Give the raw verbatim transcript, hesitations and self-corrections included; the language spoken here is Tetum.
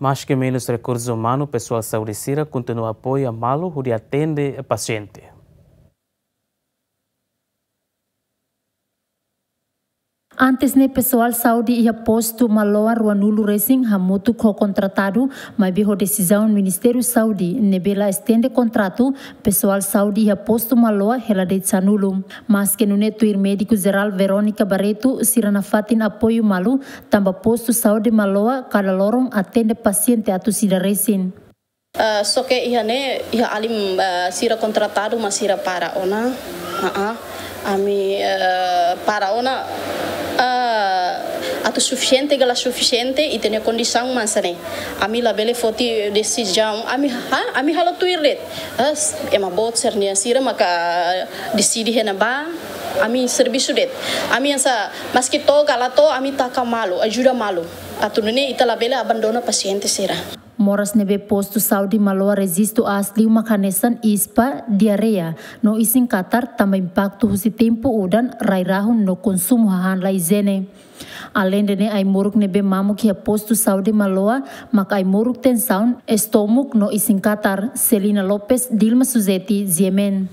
Maske menus rekursu umanu, pesoál saúde sira kontinua apoia malu hodi atende pasiente. Antes ne'e pesoál saúde iha postu Maloa ruanulu resin hamutuk ho kontratadu, maibé ho desizaun Ministériu Saúde ne'ebé la estende kontratu, pesoál saúde iha postu Maloa hela de'it sanulu. Maske nune'e tuir médiku jerál Verónica Barreto, sira nafatin apoiu malu, tanba postu saúde Maloa kada loron atende pasiente atus ida resin. Ah, só ke iha ne'e, iha alin, ah, sira kontratadu mak sira para ona. Ah, ah. Ami, ah, para ona, ah, atu sufisiente ka la sufisiente, ita-nia kondisaun mak hanesan ne'e. Ami labele foti desizaun, ami ha, ami halo tuir de'it. Ah, s-, ema boot sira-nia, sira maka deside iha ne'ebá, ami servisu de'it. Ami hanesan, maske to'o ka la to'o, ami taka malu, ajuda malu. Atu nune'e ita labele abandona pasiente sira. Moras ne'ebé postu saúde Maloa rejistu aas liu mak hanesan ispa, diarreia, no isin-katar, tanba impaktu husi tempu udan, rai-rahun no konsumu hahán la ijiene. Aleinde ne'e, ai-moruk ne'ebé mamuk iha postu saúde Maloa mak ai-moruk tensaun, estómagu no isin-katar. Celina Lopes, Dilma Suzeti, G M N.